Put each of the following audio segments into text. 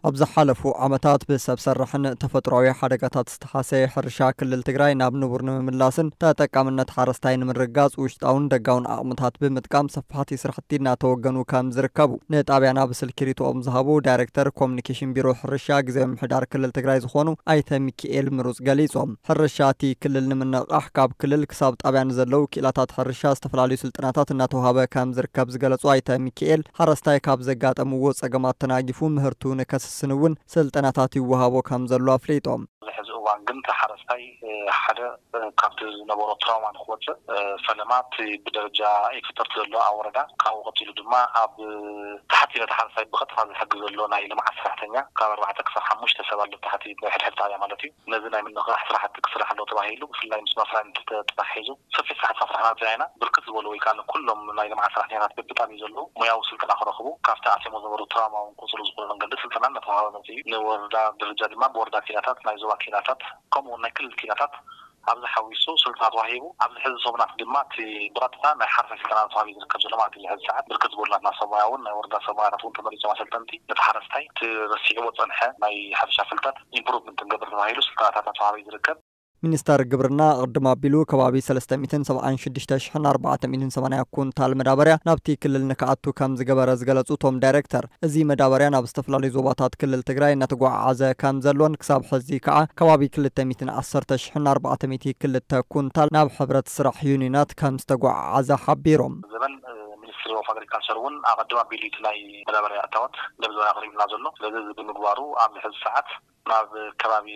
ኣብ ዝሓለፉ ዓመታት ብሰብ ሰራሕን ተፈጥሮኣዊ ሓደጋታት ዝተሓሰየ ሕርሻ ክልል ትግራይ ናብ ንቡር ንምምላስን ተጠቃምነት ሓረስታይ ንምርግጋጽ ውሽጣውን ደጋውን ዓቕምታት ብምጥቃም ሰፋሕቲ ስራሕቲ እናተወገኑ ከም ዝርከቡ ንጣብያና ብስልኪ ሪቶኦም ዝሃቡ ዳይሬክተር ኮሚኒኬሽን ቢሮ ሕርሻ ግዜ ምሕዳር ክልል ትግራይ ዝኾኑ ኣይተ ሚኪኤል ምሩጽ ገሊጾም። ሕርሻ እቲ ክልል ንምንቕቓሕ ካብ ክልል ክሳብ ጣብያ ንዘለዉ ክኢላታት ሕርሻ ዝተፈላለዩ ስልጠናታት እናተዋሃበ ከም ዝርከብ ዝገለጹ ኣይተ ሚኪኤል፣ ሓረስታይ ካብ ዘጋጠምዎ ጸገማት ተናጊፉ ምህርቱ ንከስስን እውን ስልጠናታት ይወሃቦ ከም ዘሎ ኣፍሊጦም። ኣብዚ ሕዚ እዋን ግን እቲ ሓረስታይ ሓደ ካብቲ ዝነበሮ ትራውማ ንክወፅእ ፈለማ እቲ ብደረጃ ኤክስፐርት ዘሎ ኣብ ወረዳ ካብኡ ቀፂሉ ድማ ኣብ ታሕቲ ነቲ ሓረስታይ ብቐጥታ ዝሕግዝ ዘሎ ናይ ልምዓት ሰራሕተኛ ካብ ኣርባዕተ ክሳብ ሓሙሽተ ሰብ ኣሎ ታሕቲ ብሕድሕድ ጣብያ ማለት እዩ። ነዚ ናይ ምንቕቓሕ ስራሕቲ ክስራሕ ኣሎ ተባሂሉ ብፍላይ ምስ ማፍራይ ተተሓሒዙ ሰፊሕ ስራሕቲ ሰራሕና ርኢና ኢና። ብርክት ዝበሉ ወይ ከዓ ኩሎም ናይ ልምዓት ሰራሕተኛታት በብጣብዩ ዘለዉ ሞያዊ ስልጠና ክረኽቡ ካብቲ ኣትዮም ዝነበሩ ትራውማ እውን ቁፅሉ ዝኾነ መንገዲ ስልጠና እናተዋሃበ መፅእ እዩ። ንወረዳ ደረጃ ድማ ብወረዳ ኪናታት ናይ ዞባ ኪናታት ከምኡ እውን ናይ ክልል ኪናታት ኣብዚ ሓዊሱ ስልጠና ተዋሂቡ ኣብዚ ሕዚ ሰሙናት ድማ እቲ ብቐጥታ ናይ ሓረስታይ ስልጠና ተዋሂቡ ዝርከብ ዘሎ ማለት እዩ። ሕዚ ሰዓት ብርክት ዝበሉ ናትና ሰብ ሞያ እውን ናይ ወረዳ ሰብ ሞያታት እውን ተመሪፆም ኣሰልጠንቲ ነቲ ሓረስታይ እቲ ረሲዕዎ ዝፀንሐ ናይ ሕርሻ ፍልጠት ኢምፕሩቭመንት ክንገብር ተባሂሉ ስልጠናታት እናተዋሃበ እዩ ዝርከብ። ሚኒስተር ግብርና ቅድም ኣቢሉ ከባቢ ሰለስተ ሚእትን ሰብዓን ሽዱሽተ ሽሕን ኣርባዕተ ሚእትን ሰማንያ ኩንታል መዳበርያ ናብቲ ክልል ንክኣቱ ከም ዝገበረ ዝገለጹ እቶም ዳይሬክተር፣ እዚ መዳበርያ ናብ ዝተፈላለዩ ዞባታት ክልል ትግራይ እናተጓዓዓዘ ከም ዘሎን ክሳብ ሕዚ ከዓ ከባቢ ክልተ ሚእትን ዓሰርተ ሽሕን ኣርባዕተ ሚእቲ ክልተ ኩንታል ናብ ሕብረት ስራሕ ዩኒናት ከም ዝተጓዓዓዘ ሓቢሮም። ዘበን ሚኒስትሪ ኦፍ ኣግሪካልቸር እውን ኣቐድም ኣቢሉ እቲ ናይ መዳበርያ እታወት ነብ ዘበን ኣቕሪብና ዘሎ። ስለዚ እዚ ብምግባሩ ኣብዚ ሕዚ ሰዓት ናብ ከባቢ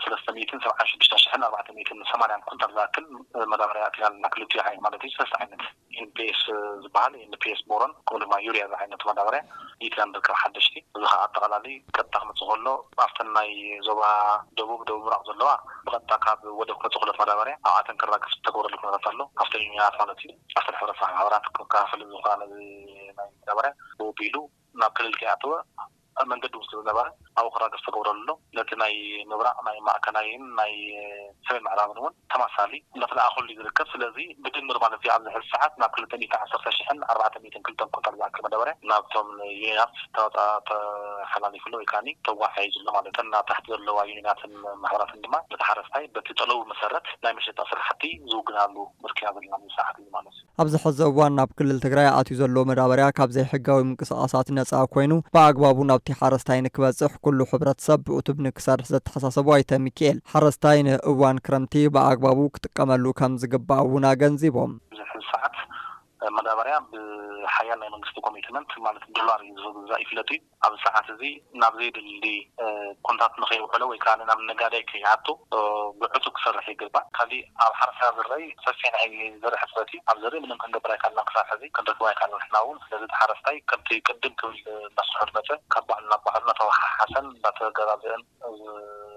ሰለስተ ሚእትን ሰብዓን ሽዱሽተ ሽሕን ኣርባዕተ ሚእትን ሰማንያን ኩንታል ዝኣክል መዳበርያ ኣእቲና ኣለና። ክልቲኡ ዓይነት ማለት እዩ። ሰለስተ ዓይነት ኤንፒኤስ ዝበሃል፣ ኤንፒኤስ ቦሮን ከምኡ ድማ ዩርያ ዝዓይነቱ መዳበርያ ኣእቲና ንርከብ ሓደሽቲ። እዚ ከዓ ኣጠቓላሊ ቀጥታ ክመፅእ ከሎ ኣብተን ናይ ዞባ ደቡብ፣ ደቡብ ምብራቕ ዘለዋ ብቐጥታ ካብ ወደብ ክመፅእ ከሎ እቲ መዳበርያ ኣብኣተን ክራገፍ ዝተገብረሉ ኩነታት ኣሎ። ኣብተን ዩኒያት ማለት እዩ። ኣብተን ሕብረት ስራሕ ማሕበራት ክከፋፈል ዝኽእላ ነዚ ናይ መዳበርያ ብኡ ኣቢሉ ናብ ክልል ከይኣተወ መንገዲ እውን ስለ ዝነበረ ኣብኡ ክራገፍ ዝተገብረሉ ኣሎ። ነቲ ናይ ምብራቕ ናይ ማእከላይን ናይ ሰሜን ምዕራብን እውን ተማሳሊ እናተለኣኸሉ እዩ ዝርከብ። ስለዚ ብድምር ማለት እዩ ኣብዚ ሕዚ ሰዓት ናብ ክልተ ሚእቲ ዓሰርተ ሽሕን ኣርባዕተ ሚእትን ክልተን ኩንታል ዝኣክል መዳበርያ ናብቶም ዩኒናት ተዋፃ ተሓላሊፉ ኣሎ ወይ ከዓ ተጓዓዒዙ ኣሎ ማለት እዩ። እተን ኣብ ታሕቲ ዘለዋ ዩኒናትን ማሕበራትን ድማ ነቲ ሓረስታይ በቲ ጠለቡ መሰረት ናይ መሸጣ ስራሕቲ ዝውግናሉ ምርኪና ዘለና ኣብዚ ሰዓት እዩ ማለት እዩ። ኣብዚ ሕዚ እዋን ናብ ክልል ትግራይ ኣትዩ ዘሎ መዳበርያ ካብ ዘይሕጋዊ ምንቅስቓሳት ነፃ ኮይኑ ብኣግባቡ ናብቲ ሓረስታይ ንክበፅሕ ኩሉ ሕብረተሰብ ብዕቱብ ንክሰርሕ ዘተሓሳሰቡ ኣይተ ሚኪኤል፣ ሓረስታይ ንእዋን ክረምቲ ብኣግባቡ ክጥቀመሉ ከም ዝግባእ እውን ኣገንዚቦም። ኣብዚ ሕዚ ሰዓት መዳበርያ ብሓያል ናይ መንግስቲ ኮሚትመንት ማለት ዶላር እዩ ዝግዛእ ይፍለጥ እዩ። ኣብዚ ሰዓት እዚ ናብ ዘየድሊ ኩነታት ንኸይውዕሎ ወይ ከዓ ናብ ነጋዳይ ከይኣቱ ብዕቱብ ክሰርሕ ይግባእ። ካሊእ ኣብ ሓረስታ ዝረኣይ ሰፊሕ ናይ ዘርኢ ሕፅረት እዩ። ኣብ ዘርኢ ምንም ክንገብር ኣይካልናን ክሳብ ሕዚ ክንረክብ ኣይካልናን ንሕና እውን። ስለዚ እቲ ሓረስታይ ከምቲ ቅድም ክብል እናስርሑ ዝመፀ ካብ ባዕሉ ናብ ባዕሉ እናተወሓሓሰን እናተገዛዘአን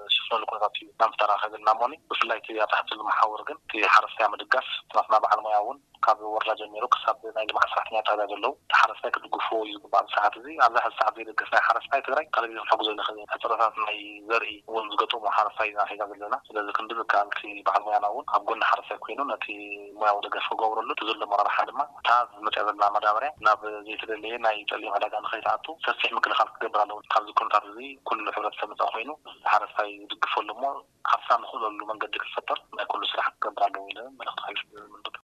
ዝሽፍነሉ ኩነታት እዩ ናብ ምፍጣር ከይብልና እሞኒ ብፍላይ እቲ ኣብ ታሕቲ ዘሎ መሓውር ግን እቲ ሓረስታይ ኣብ ምድጋፍ ናትና በዓል ሞያ እውን ካብ ወረዳ ጀሚሩ ክሳብ ናይ ልምዓት ሰራሕተኛ ጣብያ ዘለዉ እቲ ሓረስታይ ክድግፍዎ እዩ ዝግባእ። ኣብዚ ሰዓት እዚ ኣብዚ ሕዚ ሰዓት ዘይደገፍ ናይ ሓረስታይ ትግራይ ካሊእ ክንሕግዞ ንኽእል ኢና። ሕፅረታት ናይ ዘርኢ እውን ዝገጠሙ ሓረስታይ ኢና ሒዛ ዘለና። ስለዚ ክንዲ ዝከኣል እቲ በዓል ሞያና እውን ኣብ ጎኒ ሓረስታይ ኮይኑ ነቲ ሞያዊ ደገፍ ክገብረሉ እቲ ዘሎ ኣመራርሓ ድማ እታ ዝመፅያ ዘላ መዳበርያ ናብ ዘይተደለየ ናይ ፀሊም ዕዳጋ ንኸይትኣቱ ሰፊሕ ምክልኻል ክገብር ኣለዎ። ካብዚ ኩነታት እዚ ኩሉ ሕብረተሰብ ነፃ ኮይኑ ሓረስታይ ዝድግፈሉ እሞ ሓርሳ ንኽእለሉ መንገዲ ክፈጠር ናይ ኩሉ ስራሕ ክገብር ኣለዎ ኢለ መልእኽቲ ሓይሽ ምንድብ።